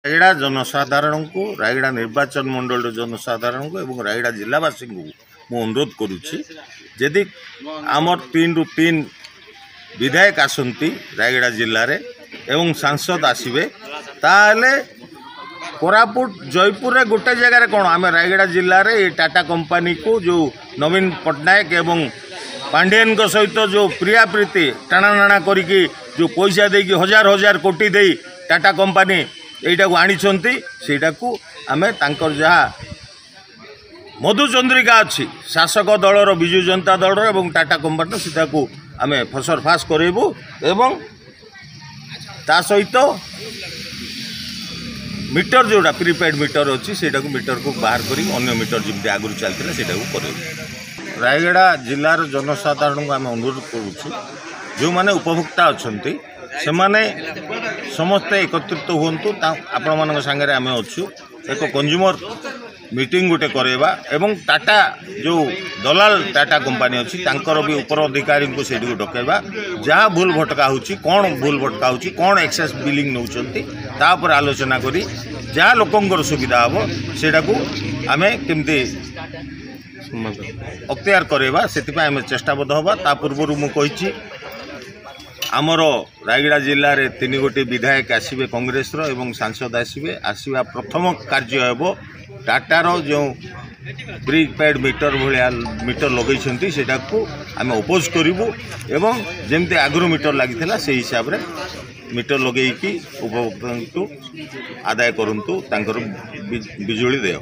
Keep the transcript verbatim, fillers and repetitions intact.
ରାୟଗଡ଼ା ଜନସାଧାରଣଙ୍କୁ, ରାୟଗଡ଼ା ନିର୍ବାଚନ ମଣ୍ଡଳୀର ଜନସାଧାରଣଙ୍କୁ ଏବଂ ରାୟଗଡ଼ା ଜିଲ୍ଲାବାସୀଙ୍କୁ ମୁଁ ଅନୁରୋଧ କରୁଛି, ଯଦି ଆମର ତିନିରୁ ତିନି ବିଧାୟକ ଆସନ୍ତି ରାୟଗଡ଼ା ଜିଲ୍ଲାରେ ଏବଂ ସାଂସଦ ଆସିବେ, ତାହେଲେ କୋରାପୁଟ ଜୟପୁରରେ ଗୋଟେ ଜାଗାରେ କ'ଣ, ଆମେ ରାୟଗଡ଼ା ଜିଲ୍ଲାରେ ଏ ଟାଟା କମ୍ପାନୀକୁ ଯେଉଁ ନବୀନ ପଟ୍ଟନାୟକ ଏବଂ ପାଣ୍ଡିଆନଙ୍କ ସହିତ ଯେଉଁ ପ୍ରିୟାପ୍ରୀତି ଟାଣାନାଣା କରିକି ଯେଉଁ ପଇସା ଦେଇକି ହଜାର ହଜାର କୋଟି ଦେଇ ଟାଟା କମ୍ପାନୀ ଏଇଟାକୁ ଆଣିଛନ୍ତି, ସେଇଟାକୁ ଆମେ ତାଙ୍କର ଯାହା ମଧୁଚନ୍ଦ୍ରିକା ଅଛି ଶାସକ ଦଳର, ବିଜୁ ଜନତା ଦଳର ଏବଂ ଟାଟା କମ୍ପାନୀର, ସେଟାକୁ ଆମେ ଫସର ଫାସ କରାଇବୁ। ଏବଂ ତା ସହିତ ମିଟର ଯେଉଁଟା ପ୍ରିପେଡ଼ ମିଟର ଅଛି, ସେଇଟାକୁ ମିଟରକୁ ବାହାର କରି ଅନ୍ୟ ମିଟର ଯେମିତି ଆଗରୁ ଚାଲିଥିଲା ସେଇଟାକୁ କରାଇବୁ। ରାୟଗଡ଼ା ଜିଲ୍ଲାର ଜନସାଧାରଣଙ୍କୁ ଆମେ ଅନୁରୋଧ କରୁଛୁ, ଯେଉଁମାନେ ଉପଭୋକ୍ତା ଅଛନ୍ତି ସେମାନେ ସମସ୍ତେ ଏକତ୍ରିତ ହୁଅନ୍ତୁ। ଆପଣମାନଙ୍କ ସାଙ୍ଗରେ ଆମେ ଅଛୁ। ଏକ କଞ୍ଜୁମର ମିଟିଂ ଗୋଟେ କରାଇବା ଏବଂ ଟାଟା ଯେଉଁ ଦଲାଲ ଟାଟା କମ୍ପାନୀ ଅଛି ତାଙ୍କର ବି ଉପର ଅଧିକାରୀଙ୍କୁ ସେଇଠିକୁ ଡକାଇବା। ଯାହା ଭୁଲ ଭଟକା ହେଉଛି, କ'ଣ ଭୁଲ ଭଟକା ହେଉଛି, କ'ଣ ଏକ୍ସେସ୍ ବିଲିଂ ନେଉଛନ୍ତି, ତା ଉପରେ ଆଲୋଚନା କରି ଯାହା ଲୋକଙ୍କର ସୁବିଧା ହେବ ସେଇଟାକୁ ଆମେ କେମିତି ଅକ୍ତିଆର କରାଇବା, ସେଥିପାଇଁ ଆମେ ଚେଷ୍ଟାବଦ୍ଧ ହେବା। ତା ପୂର୍ବରୁ ମୁଁ କହିଛି, ଆମର ରାୟଗଡ଼ା ଜିଲ୍ଲାରେ ତିନି ଗୋଟି ବିଧାୟକ ଆସିବେ କଂଗ୍ରେସର ଏବଂ ସାଂସଦ ଆସିବେ, ଆସିବା ପ୍ରଥମ କାର୍ଯ୍ୟ ହେବ ଟାଟାର ଯେଉଁ ପ୍ରିପେଡ଼ ମିଟର ଭଳିଆ ମିଟର ଲଗେଇଛନ୍ତି ସେଇଟାକୁ ଆମେ ଅପୋଜ କରିବୁ ଏବଂ ଯେମିତି ଆଗରୁ ମିଟର ଲାଗିଥିଲା ସେଇ ହିସାବରେ ମିଟର ଲଗେଇକି ଉପଭୋକ୍ତାଙ୍କୁ ଆଦାୟ କରନ୍ତୁ ତାଙ୍କର ବିଜୁଳି ଦେୟ।